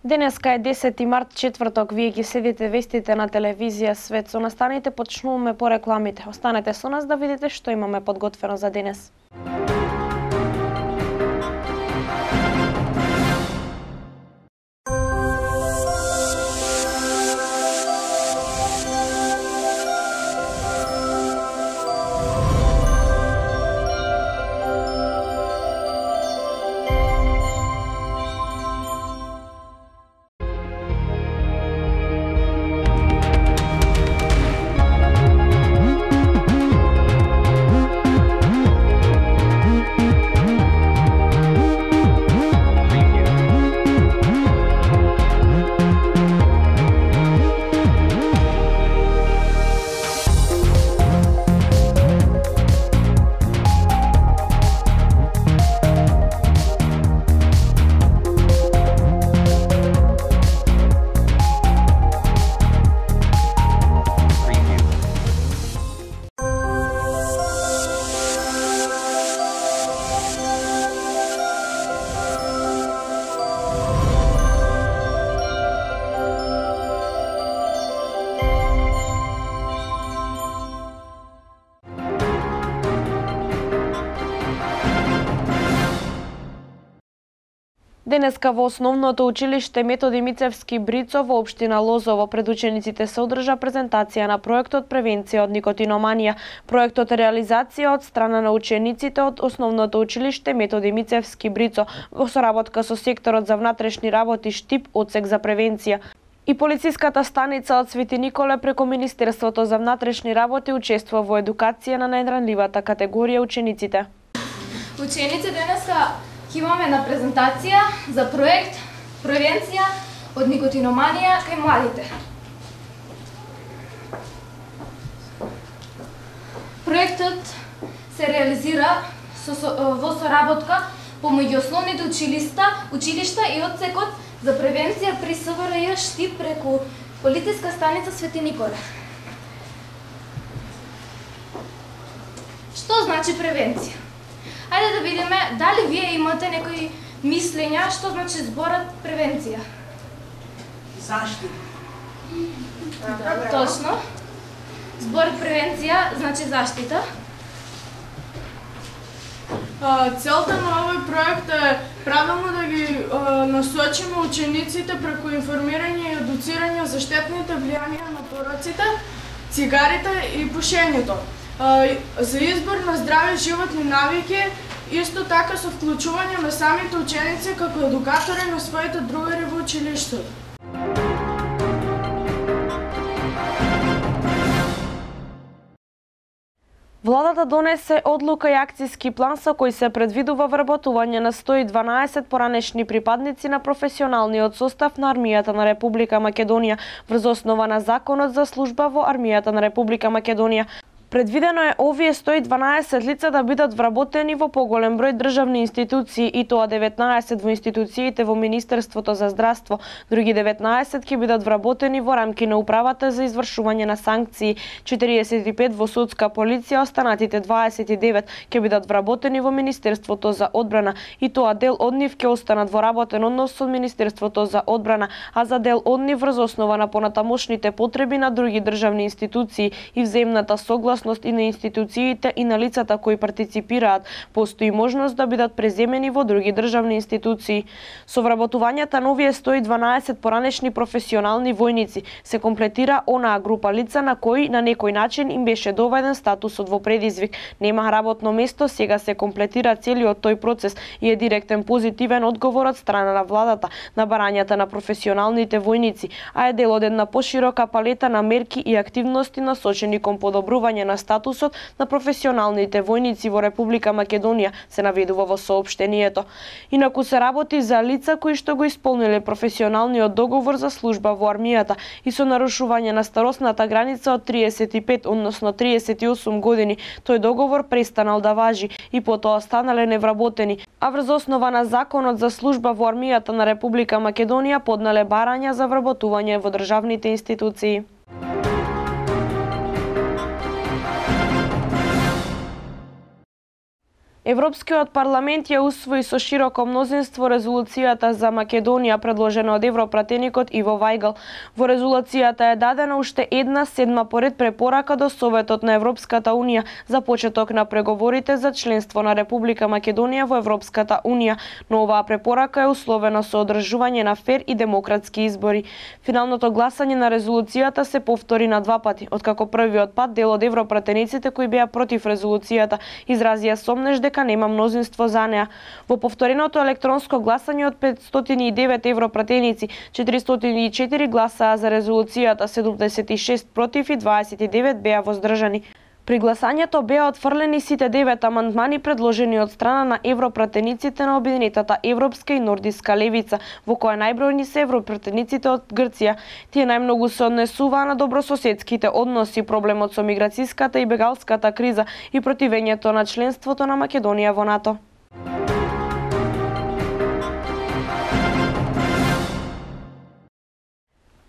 Денеска е 10 март, четврток. Вие ги следите вестите на телевизија Свет. Со настаните почнуваме по рекламите. Останете со нас да видите што имаме подготвено за денес. Денеска во Основното училиште Методи Мицевски Брицо во општина Лозово пред учениците се одржа презентација на проектот Превенција од никотиноманија. Проектот е реализација од страна на учениците од Основното училиште Методи Мицевски Брицо во соработка со секторот за внатрешни работи Штип, одсек за превенција. И полициската станица од Свети Николе преку Министерството за внатрешни работи учествува во едукација на најранливата категорија учениците. Ученици, денеска имаме на презентација за проект Превенција од никотиноманија кај младите. Проектот се реализира во соработка помеѓу основните училишта и одсекот за превенција при СВРЈ Штип преку полициска станица Свети Николе. Што значи превенција? Ајде да видиме дали вие имате некои мислења што значи зборот превенција. Заштита. Точно. Зборот превенција значи заштита. Целта на овој проект е правилно да ги насочиме учениците преку информирање и едуцирање за штетните влијанија на пороците, цигарите и пушењето. За избор на здрави животни навики, исто така со вклучување на самите ученици како едукатори на своите другари во училиштето. Владата донесе одлука и акцијски план со кој се предвидува вработување на 112 поранешни припадници на професионалниот состав на Армијата на Република Македонија врз основа на Законот за служба во Армијата на Република Македонија. Предвидено е овие 112 лица да бидат вработени во поголем број државни институции, и тоа 19 во институциите во Министерството за здравство, други 19 ќе бидат вработени во рамки на управата за извршување на санкции, 45 во судска полиција, останатите 29 ќе бидат вработени во Министерството за одбрана, и тоа дел од нив ќе останат во работен однос со Министерството за одбрана, а за дел од нив врз основа на понатамошните потреби на други државни институции и взаимната согласност и на институциите и на лицата кои партиципираат, постои можност да бидат преземени во други државни институции. Со вработувањата на овие 112 поранешни професионални војници се комплетира онаа група лица на кои на некој начин им беше доведен статусот во предизвик. Нема работно место, сега се комплетира целиот тој процес и е директен позитивен одговор од страна на владата на барањата на професионалните војници, а е дел од една поширока палета на мерки и активности насочени кон подобрување на статусот на професионалните војници во Република Македонија, се наведува во соопштението. Инаку се работи за лица кои што го исполниле професионалниот договор за служба во армијата и со нарушување на старосната граница од 35, односно 38 години. Тој договор престанал да важи и потоа станале невработени, а врз основа на Законот за служба во армијата на Република Македонија поднале барања за вработување во државните институции. Европскиот парламент ја усвои со широко мнозинство резолуцијата за Македонија предложена од европратеникот Иво Вајгал. Во резолуцијата е дадена уште една седма поред препорака до Советот на Европската Унија за почеток на преговорите за членство на Република Македонија во Европската Унија, но оваа препорака е условена со одржување на фер и демократски избори. Финалното гласање на резолуцијата се повтори на два пати, откако првиот пат дел од европратениците кои беа против резолуцијата изразија сомнеж дека нема мнозинство за неа. Во повтореното електронско гласање од 509 европратеници, 404 гласаа за резолуцијата, 76 против и 29 беа воздржани. При гласањето беа отфрлени сите 9 амандмани предложени од страна на европратениците на Обединетата европска и нордиска левица, во која најбројни се европратениците од Грција. Тие најмногу се однесуваа на добрососедските односи, проблемот со миграцијската и бегалската криза и противењето на членството на Македонија во НАТО.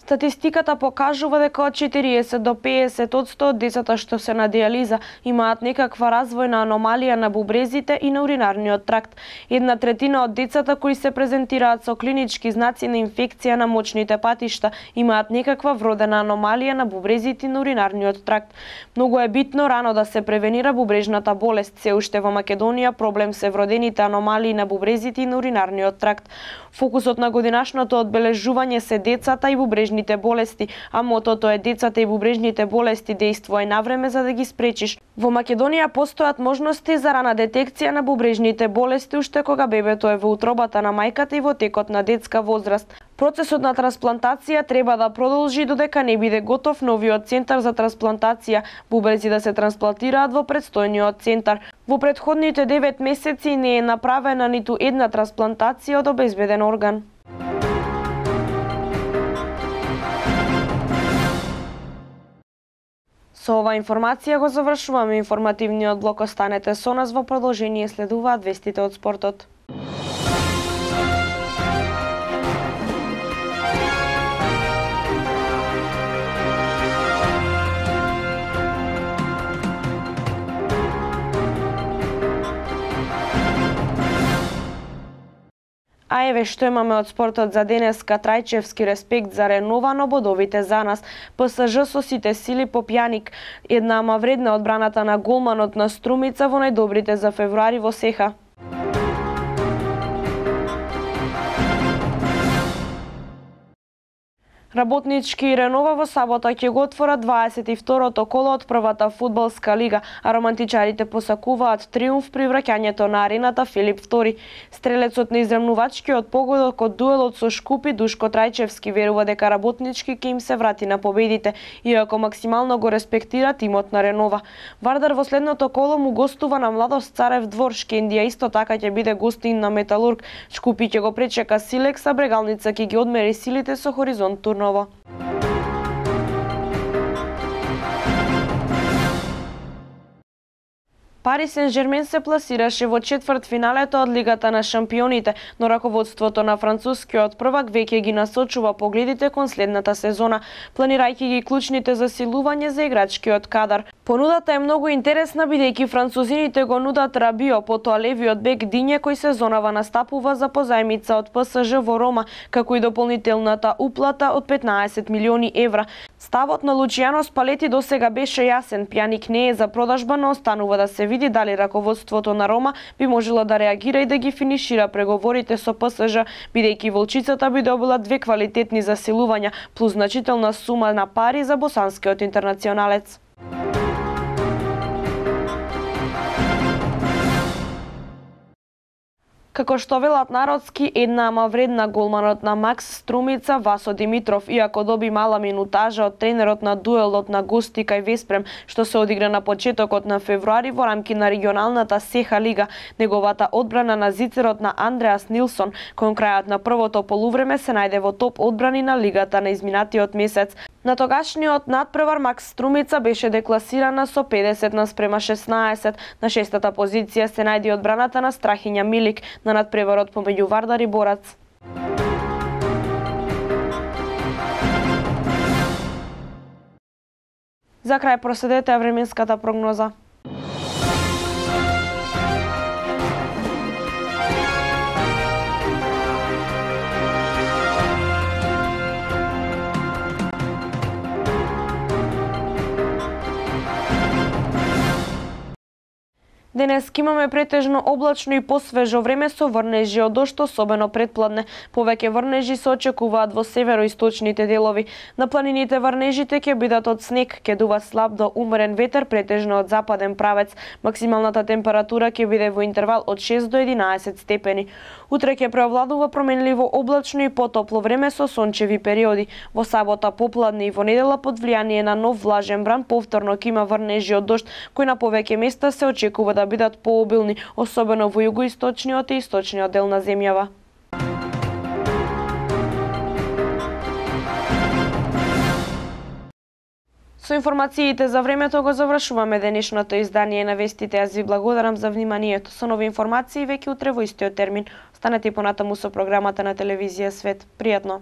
Статистиката покажува дека од 40 до 50% од децата што се на диализа имаат некаква развојна аномалија на бубрезите и на уринарниот тракт. 1/3 од децата кои се презентираат со клинички знаци на инфекција на мочните патишта имаат некаква вродена аномалија на бубрезите и на уринарниот тракт. Многу е битно рано да се превенира бубрежната болест. Се уште во Македонија проблем се вродените аномалии на бубрезите и на уринарниот тракт. Фокусот на годинашното одбележување се децата и бубрежните болести, а мотото е децата и бубрежните болести действувај навреме за да ги спречиш. Во Македонија постојат можности за рана детекција на бубрежните болести уште кога бебето е во утробата на мајката и во текот на детска возраст. Процесот на трансплантација треба да продолжи додека не биде готов новиот центар за трансплантација, бубрези да се трансплантираат во предстојниот центар. Во претходните 9 месеци не е направена ниту една трансплантација од обезбеден орган. Со ова информација го завршуваме информативниот блок. Останете со нас, во продолжение следуваат вестите од спортот. А еве што имаме од спортот за денеска. Трајчевски респект за Ренова, но бодовите за нас. ПСЖ со сите сили по Пјаник. Една ама вредна одбраната на голманот на Струмица во најдобрите за февруари во Сеха. Работнички и Ренова во сабота ќе го отворат 22-то коло од првата фудбалска лига, а романтичарите посакуваат триумф при враќањето на арената Филип II. Стрелецот на изремнувачкиот погодок од дуелот со Шкупи Душко Трајчевски верува дека работнички ќе им се врати на победите, иако максимално го респектира тимот на Ренова. Вардар во следното коло му гостува на Младост Царев двор, Шкендија исто така ќе биде гостин на Металург. Шкупи ќе го пречека Силекс, а Брегалница ќе ги одмери силите со Хоризонт Турново. Пари Сен-Жермен се пласираше во четвртфиналето од Лигата на шампионите, но раководството на францускиот првак веќе ги насочува погледите кон следната сезона, планирајќи ги клучните засилување за играчкиот кадар. Понудата е многу интересна, бидејќи французините го нудат Рабио, потоа левиот бек Диње кој сезонава настапува за позајмица од ПСЖ во Рома, како и дополнителната уплата од 15 милиони евра. Ставот на Лучијано Спалети досега беше јасен, Пјаник не е за продажба, но останува да се види дали раководството на Рома би можело да реагира и да ги финишира преговорите со ПСЖ, бидејќи волчицата би добила две квалитетни засилувања плюс значителна сума на пари за босанскиот интернационалец. Како што велат народски, една ама вредна голманот на Макс Струмица Васо Димитров, иако доби мала минутажа од тренерот на дуелот на гости кај Веспрем, што се одигра на почетокот на февруари во рамки на регионалната Сеха лига, неговата одбрана на зицерот на Андреас Нилсон кон крајот на првото полувреме се најде во топ одбрани на лигата на изминатиот месец. На тогашниот надпревар Макс Струмица беше декласирана со 50:16. На шестата позиција се најде одбраната на Страхиња Милик на надпреварот помеѓу Вардар и Борац. За крај проследете временската прогноза. Денес имаме претежно облачно и посвежо време со врнежи од дожд, особено предпладне. Повеќе врнежи се очекуваат во североисточните делови. На планините врнежите ќе бидат од снег, ќе дува слаб до умерен ветер, претежно од западен правец. Максималната температура ќе биде во интервал од 6 до 11 степени. Утре ќе преовладува променливо облачно и потопло време со сончеви периоди. Во сабота попладне и во недела под влијание на нов влажен бран повторно ќе има врнежи од дожд, кои на повеќе места се очекува да бидат пообилни, особено во југоисточниот и источниот дел на земјава. Со информациите за времето го завршуваме денешното издание на вестите. Аз ви благодарам за вниманието. Со нови информации веќе утре во истиот термин. Останете понатаму со програмата на телевизија Свет. Пријатно!